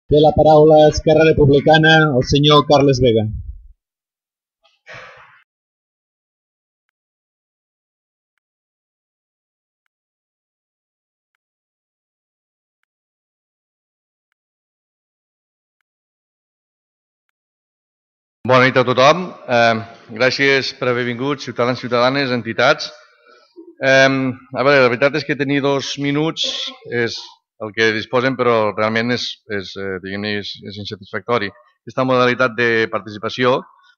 Té la paraula Esquerra Republicana el senyor Carles Vega. Bona nit a tothom. Gràcies per haver vingut, ciutadans, ciutadanes, entitats. A veure, la veritat és que tenir 2 minuts és el que disposem, però realment és insatisfactori. Aquesta modalitat de participació,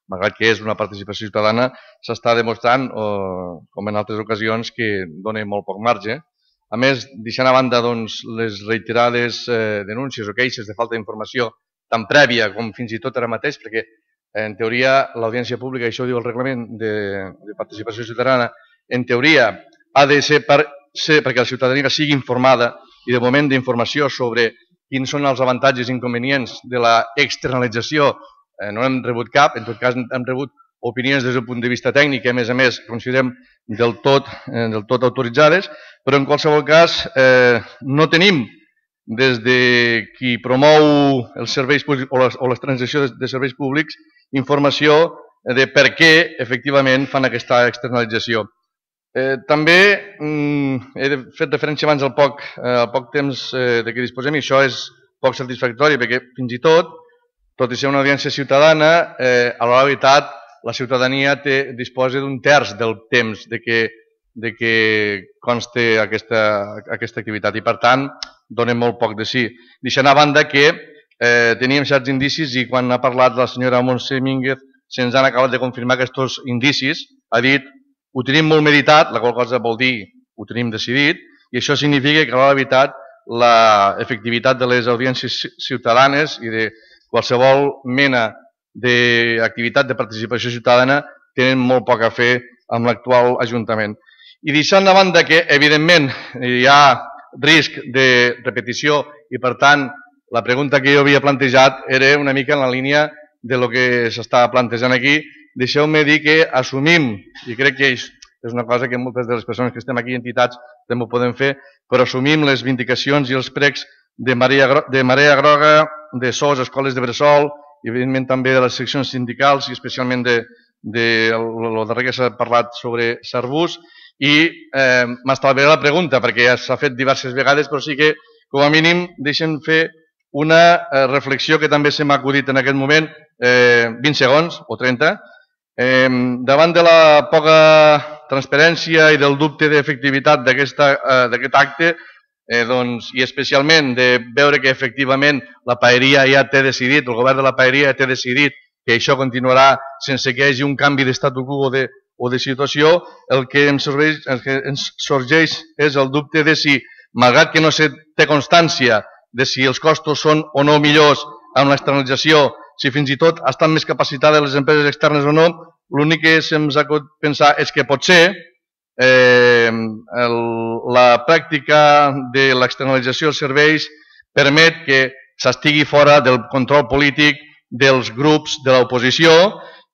malgrat que és una participació ciutadana, s'està demostrant, com en altres ocasions, que dona molt poc marge. A més, deixant a banda les reiterades denúncies o queixes de falta d'informació, tan prèvia com fins i tot ara mateix, perquè en teoria l'audiència pública, això ho diu el reglament de participació ciutadana, en teoria ha de ser perquè la ciutadania sigui informada, i de moment d'informació sobre quins són els avantatges i inconvenients de l'externalització no hem rebut cap. En tot cas hem rebut opinions des del punt de vista tècnic que a més considerem del tot autoritzades, però en qualsevol cas no tenim des de qui promou els serveis públics o la transició de serveis públics informació de per què efectivament fan aquesta externalització. També he fet referència abans al poc temps de què disposem, i això és poc satisfactori perquè fins i tot i ser una audiència ciutadana, a la veritat la ciutadania disposa d'un terç del temps de què consti aquesta activitat i per tant dona molt poc de sí. Deixant a banda que teníem certs indicis i quan ha parlat la senyora Montse Mínguez se'ns han acabat de confirmar aquests indicis. Ha dit ho tenim molt meditat, la qual cosa vol dir ho tenim decidit, i això significa que a la veritat l'efectivitat de les audiències ciutadanes i de qualsevol mena d'activitat de participació ciutadana tenen molt poc a fer amb l'actual Ajuntament. I deixant de banda que evidentment hi ha risc de repetició i per tant la pregunta que jo havia plantejat era una mica en la línia del que s'està plantejant aquí. Deixeu-me dir que assumim, i crec que és una cosa que moltes de les persones que estem aquí, entitats, també ho podem fer, però assumim les vindicacions i els precs de Marea Groga, de SOS, escoles de bressol, i evidentment també de les seccions sindicals i especialment de lo darrer que s'ha parlat sobre Sarbús, i m'estalviaré la pregunta perquè ja s'ha fet diverses vegades, però sí que com a mínim deixen fer una reflexió que també se m'ha acudit en aquest moment, 20 segons o 30, davant de la poca transparència i del dubte d'efectivitat d'aquest acte, i especialment de veure que efectivament la paeria ja té decidit, el govern de la paeria ja té decidit que això continuarà sense que hi hagi un canvi d'estatu quo o de situació, el que ens sorgeix és el dubte de si, malgrat que no se té constància de si els costos són o no millors amb l'externalització, si fins i tot estan més capacitades les empreses externes o no, l'únic que se'ns ha de pensar és que potser la pràctica de l'externalització dels serveis permet que s'estigui fora del control polític dels grups de l'oposició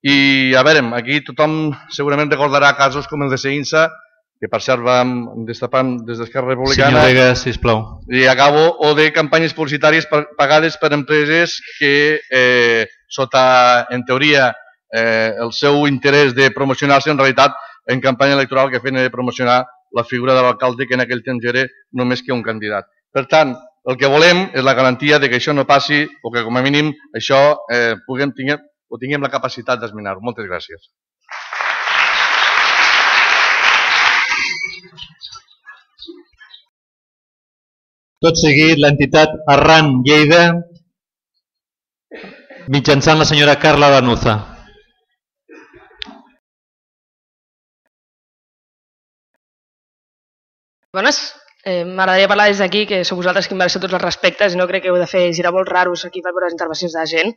i, a veure, aquí tothom segurament recordarà casos com el de Seinsa, que per cert vam destapar des d'Esquerra Republicana. Senyor Vega, sisplau. I acabo, o de campanyes publicitàries pagades per empreses que, sota, en teoria, el seu interès de promocionar-se, en realitat, en campanya electoral que feien de promocionar la figura de l'alcalde, que en aquell temps era només que un candidat. Per tant, el que volem és la garantia de que això no passi o que, com a mínim, això tinguem la capacitat d'esmenar-ho. Moltes gràcies. Tot seguit, l'entitat Arran Lleida, mitjançant la senyora Carla Danuza. Bones. M'agradaria parlar des d'aquí, que sou vosaltres qui em mereixeu tots els respectes i no crec que heu de fer giravolts raros aquí per veure les intervencions de la gent.